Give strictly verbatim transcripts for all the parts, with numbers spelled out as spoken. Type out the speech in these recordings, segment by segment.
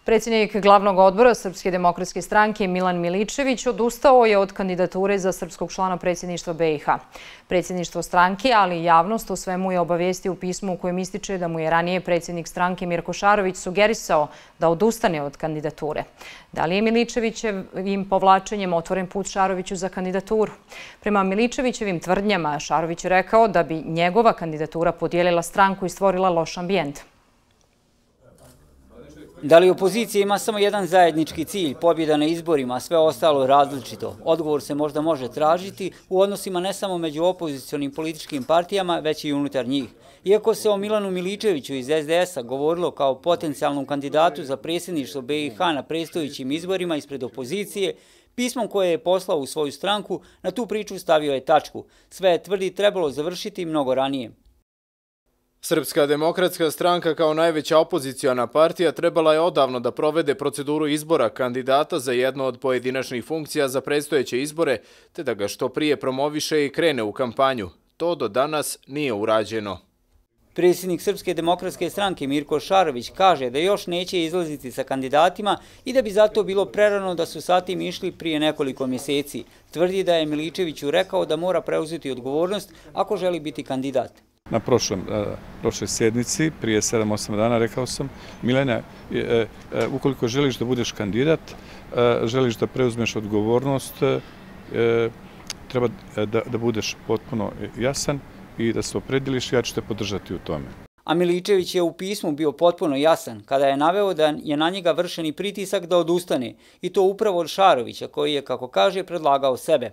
Predsjednik glavnog odbora Srpske demokratske stranke Milan Miličević odustao je od kandidature za srpskog člana predsjedništva B i H. Predsjedništvo stranke, ali i javnost o svemu je obavijestio u pismu u kojem ističe da mu je ranije predsjednik stranke Mirko Šarović sugerisao da odustane od kandidature. Da li je Miličevićevim povlačenjem otvoren put Šaroviću za kandidaturu? Prema Miličevićevim tvrdnjama, Šarović je rekao da bi njegova kandidatura podijelila stranku i stvorila loš ambijent. Da li opozicija ima samo jedan zajednički cilj, pobjeda na izborima, a sve ostalo različito? Odgovor se možda može tražiti u odnosima ne samo među opozicionim političkim partijama, već i unutar njih. Iako se o Milanu Miličeviću iz S D S-a govorilo kao potencijalnom kandidatu za predsjedništvo B i H na predstojećim izborima ispred opozicije, pismom koje je poslao u svoju stranku na tu priču stavio je tačku. Sve je, tvrdi, trebalo završiti mnogo ranije. Srpska demokratska stranka kao najveća opoziciona partija trebala je odavno da provede proceduru izbora kandidata za jednu od pojedinačnih funkcija za predstojeće izbore, te da ga što prije promoviše i krene u kampanju. To do danas nije urađeno. Predsjednik Srpske demokratske stranke Mirko Šarović kaže da još neće izlaziti sa kandidatima i da bi zato bilo prerano da su sa tim išli prije nekoliko mjeseci. Tvrdi da je Miličeviću rekao da mora preuzeti odgovornost ako želi biti kandidat. Na prošlom, prošloj sjednici, prije sedam osam dana, rekao sam, Milena, ukoliko želiš da budeš kandidat, želiš da preuzmeš odgovornost, treba da budeš potpuno jasan i da se oprediliš, ja ću te podržati u tome. A Miličević je u pismu bio potpuno jasan kada je naveo da je na njega vršen i pritisak da odustane, i to upravo od Šarovića, koji je, kako kaže, predlagao sebe.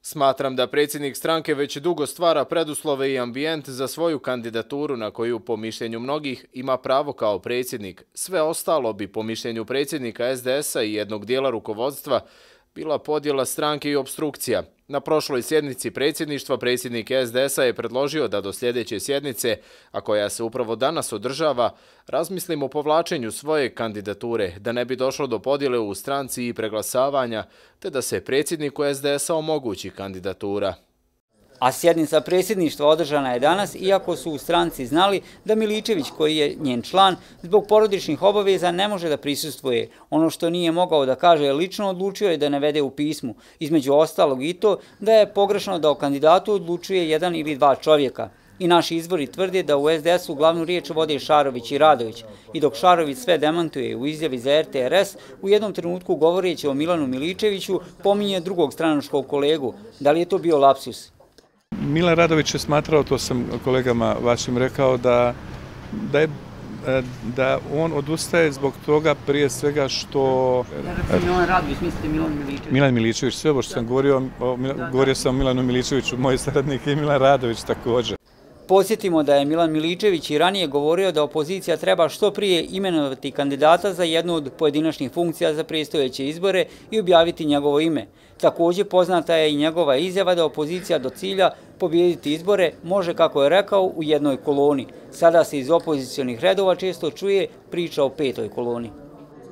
Smatram da predsjednik stranke već dugo stvara preduslove i ambijent za svoju kandidaturu na koju, po mišljenju mnogih, ima pravo kao predsjednik. Sve ostalo bi, po mišljenju predsjednika S D S-a i jednog dijela rukovodstva, bila podjela stranke i obstrukcija. Na prošloj sjednici predsjedništva predsjednik S D S-a je predložio da do sljedeće sjednice, a koja se upravo danas održava, razmislimo o povlačenju svoje kandidature, da ne bi došlo do podjele u stranci i preglasavanja, te da se predsjedniku S D S-a omogući kandidatura. A sjednica predsjedništva održana je danas, iako su u stranci znali da Miličević, koji je njen član, zbog porodičnih obaveza ne može da prisustvuje. Ono što nije mogao da kaže lično, odlučio je da navede u pismu. Između ostalog i to da je pogrešno da o kandidatu odlučuje jedan ili dva čovjeka. I naši izvori tvrde da u S D S-u glavnu riječ vode Šarović i Radović. I dok Šarović sve demantuje u izjavi za R T R S, u jednom trenutku govoreći o Milanu Miličeviću, pominje drugog stranačkog kolegu. Da li je to bio lapsus? Milan Radović je smatrao, to sam kolegama vašim rekao, da, da, je, da on odustaje zbog toga prije svega što... Da, Milan Radović, mislite Milan Miličević? Milan Miličević, sve ovo što sam govorio, o, govorio sam o Milanu Miličeviću, moj saradnik je Milan Radović također. Podsjetimo da je Milan Miličević i ranije govorio da opozicija treba što prije imenovati kandidata za jednu od pojedinačnih funkcija za predstojeće izbore i objaviti njegovo ime. Također poznata je i njegova izjava da opozicija do cilja pobijediti izbore može, kako je rekao, u jednoj koloni. Sada se iz opozicionih redova često čuje priča o petoj koloni.